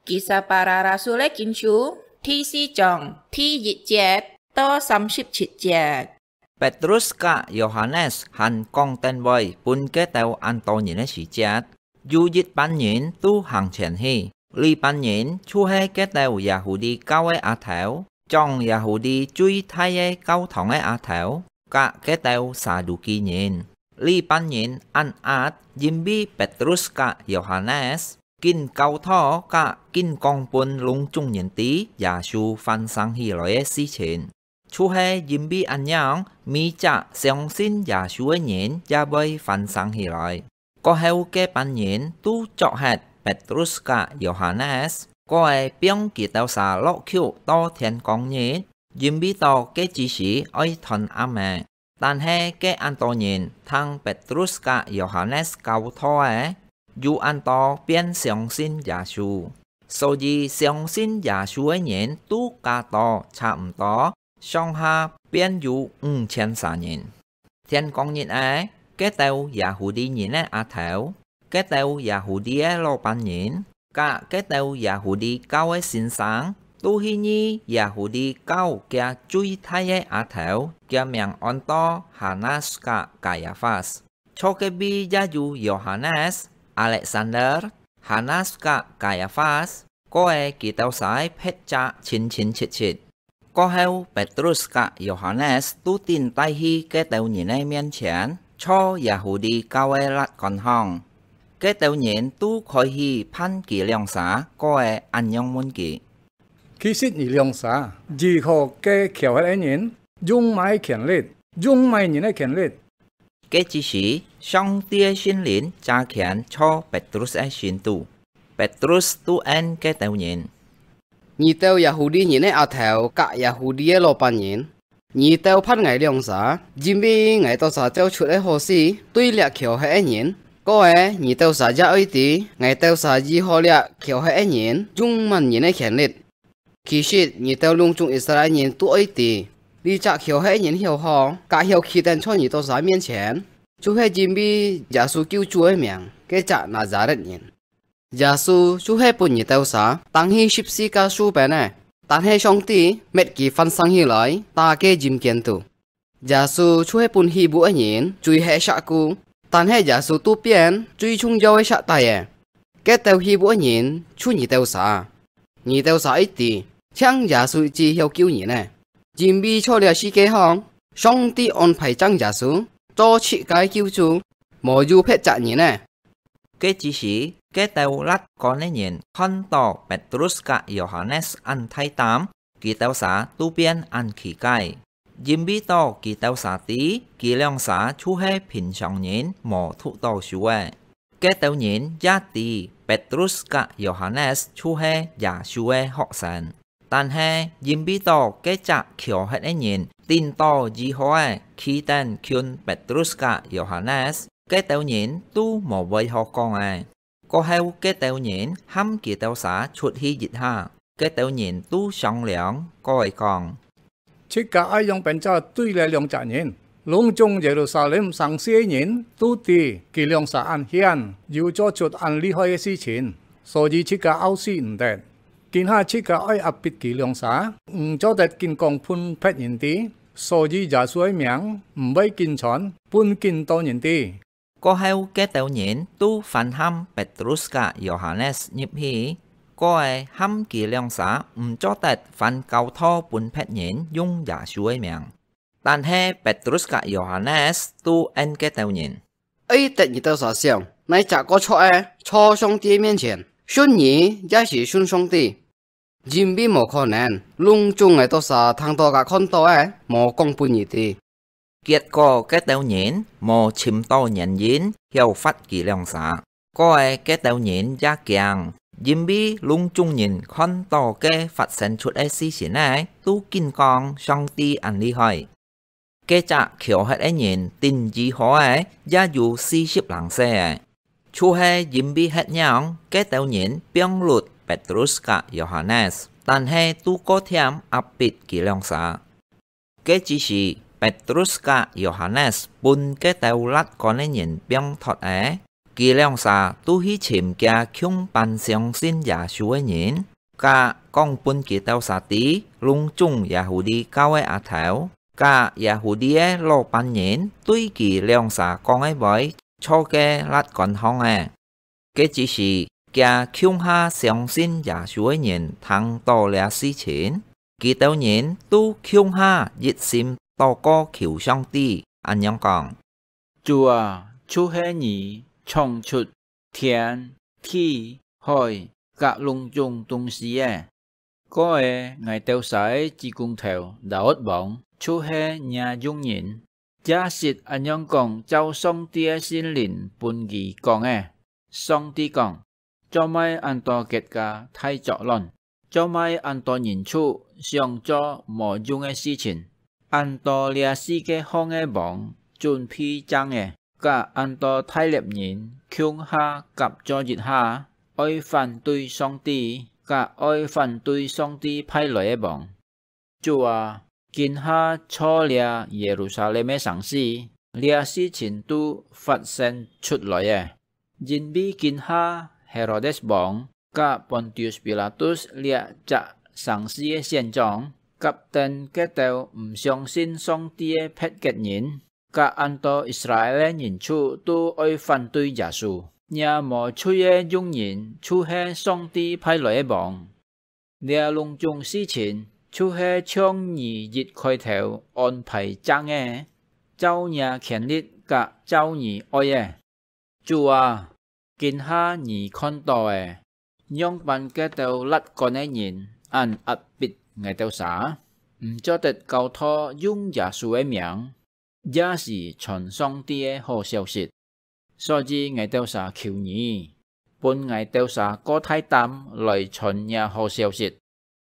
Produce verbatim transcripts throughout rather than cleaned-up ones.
Kisah Para Rasul-é Kinsú第四章第一節到三十七節。Petrus ka Yohanes hàn kóng等會分該兜恁多人个時節，有一班人都行前去，這班人就係該兜Yahudi教个阿頭，將Yahudi最大个教堂个阿頭，佮該兜撒都該人。這班人恁閼，因為Petrus ka Yohanes 緊教導佮緊講分攏總人知耶穌翻生起來个事情。就係因為恁樣，每隻相信耶穌个人也會翻生起來。過後該班人都捉核Petrus ka Yohanes，過仔放佢兜儕落坵到天光日，因為到該之時愛斷暗仔。 但係該恁多人聽Petrus ka Yohanes教導仔，有恁多變相信耶穌。所以相信耶穌个人都加到差毋多，上下變有五千儕人。天光日仔，該兜Yahudi人个阿頭， 該兜Yahudi个老闆人，佮該兜Yahudi教个先生，都去議Yahudi教厥最大个阿頭，厥名安到Hanas ka Kayafas。坐隔壁也有Yohanes、Alexander、Hanas ka Kayafas，過仔佢兜儕个別隻親親戚戚。 過後，Petrus ka Yohanes都頂戴去該兜人个面前，照Yahudi教个律管項。該兜人都開始盤佢兩儕，過仔恁樣問佢：其實你兩儕，治好該磽核个人，用麼个權力？用麼人个權力？ 該之時，上帝个聖靈加權坐Petrus个心肚。Petrus都應該兜人：你兜Yahudi人个阿頭佮Yahudi个老闆人，你兜盤𠊎兩儕，因為𠊎兜儕照出个好事，對這磽核个人。過仔，你兜儕也愛知，𠊎兜儕治好這磽核个人，用麼人个權力。 其實，你兜攏總以色列人都愛知，這隻磽核人曉好，佮曉企等在你兜儕面前，就係因為耶穌救主个名，該隻拿撒勒人。耶穌就係分你兜儕釘去十字架樹邊个，但係上帝搣佢翻生起來，搭該陰間肚。 耶穌就係分虛無个人，罪核石牯，但係耶穌都變最重要个石帶仔。該兜虛無个人就你兜儕。你兜儕一知，淨耶穌一枝曉救人仔，因為在這世界項，上帝安排正耶穌做自家个救主，無有別隻人仔。該之時，該兜律管个人看到Petrus ka Yohanes恁大膽， 佢兜儕都變恁奇怪，因為到佢兜儕知，佢兩儕就係平常人無讀到書个。該兜人也知Petrus ka Yohanes就係耶穌个學生，但係因為到該隻磽核个人頂到醫好仔，企等近Petrus ka Yohanes，該兜人都無話好講仔。 過後，該兜人喊佢兜儕出去一下，該兜人都商量，過仔講：自家愛仰般對這兩隻人？攏總耶路撒冷城市个人都知佢兩儕恁顯，又做出恁厲害个事情，所以自家拗死毋得。今下自家愛壓迫佢兩儕，毋做得緊講分別人知，所以耶穌个名毋會緊傳分緊多人知。 過後，該兜人都歡喊Petrus ka Yohanes入去，過仔喊佢兩儕毋做得翻教導分別人用耶穌个名。但係Petrus ka Yohanes都應該兜人：愛得你兜儕想，哪隻過著仔坐上帝个面前，信人也係信上帝。 因為無可能，攏總𠊎兜儕聽到佮看到个，無講分你知。結果該兜人無尋到原因曉罰佢兩儕，過仔該兜人也驚，因為攏總人看到該發生出个事情仔，都緊講上帝恁厲害。 該隻磽核个人頂醫好仔，也有四十零歲仔。就係因為係恁樣，該兜人放㪐Petrus ka Yohanes，但係都過添壓迫佢兩儕。該之時，Petrus ka Yohanes分該兜律管个人放脫仔，佢兩儕都去尋厥共般相信耶穌个人，甲講分佢兜儕知攏總耶穌教个阿頭，甲耶穌个老板人對佢兩儕講个話，做个辣官方个。該之時，厥共下相信耶穌个人聽到這事情，佢兜人都共下一心禱告求上帝，恁樣講：「主啊，就係你創出天、地、海，甲攏總東西个。過仔𠊎兜儕个子公頭Daud王，就係若用人。」 也實恁樣講照上帝个聖靈分佢講个。上帝講：「做麼恁多結个大作亂？做麼恁多人畜想做無用个事情？恁多這四个項个王準備正仔，甲恁多大獵人共下合作一下，愛反對上帝，甲愛反對上帝派來个王。」 「主啊，今下造這耶路撒冷个城市，這事情都發生出來仔，因為今下Herodes王甲Pontius Pilatus這隻城市个縣長，甲等該兜毋相信上帝个別國人，甲恁多Israel个人畜都愛反對耶穌。若無罪个用人就係上帝派來个王。 這攏總事情就係像你一開頭安排正个，照若權力甲照你愛个。主啊，今下你看到仔，仰般該兜辣官个人恁壓迫𠊎兜儕，毋做得教導用耶穌个名， 也是傳上帝个好消息。所以𠊎兜儕求你，分𠊎兜儕過大膽來傳若好消息，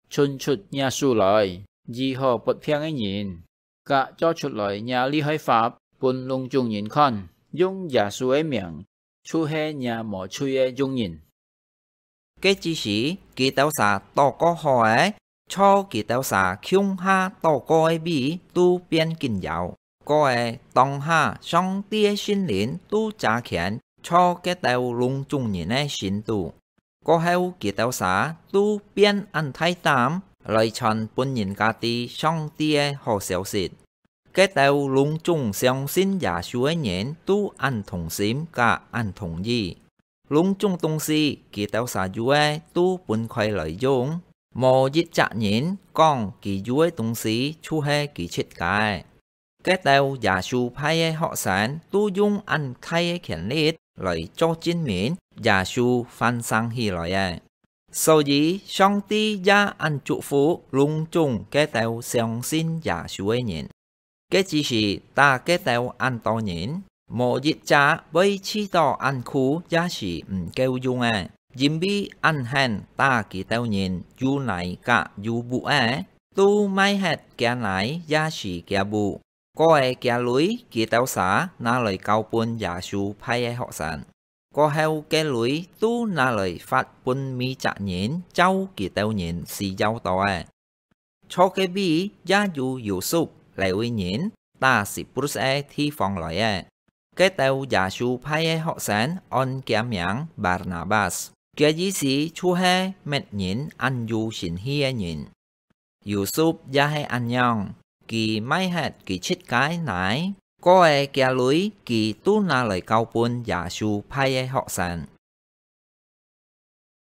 伸出若手來，醫好發病个人，甲做出來若厲害法分攏總人看，用耶穌个名，就係若無罪个用人。」 該之時，佢兜儕禱告好仔，坐佢兜儕共下禱告个位都變緊搖。過仔當下，上帝个聖靈都揸權，坐該兜攏總人个心肚。過後，佢兜儕都變恁大膽，來傳分人家知上帝个好消息。 該兜攏總相信耶穌个人都恁同心甲恁同意。攏總東西，佢兜儕有个都分開來用，無一隻人講佢有个東西就係佢自家个。該兜耶穌派个學生都用恁大个權力來做證明耶穌還生起來个。 所以，上帝也恁祝福攏總該兜相信耶穌个人。該之時打該兜恁多人，無一隻會試著恁苦也係毋夠用个，因為恁狠打佢兜人有泥甲有屋仔，都賣忒厥泥也係厥屋。 過仔厥鐳佢兜儕拿來交分耶穌派个學生。過後該鐳都拿來發分每隻人，照佢兜人需要到个。坐該位也有Yusuf，這位人打Siprus个地方來个。該兜耶穌派个學生安厥名Barnabas，厥意思就係搣人恁有神氣个人。 Yusuf也係恁樣，佢賣忒佢自家泥，過仔厥鐳佢都拿來交分耶穌派个學生。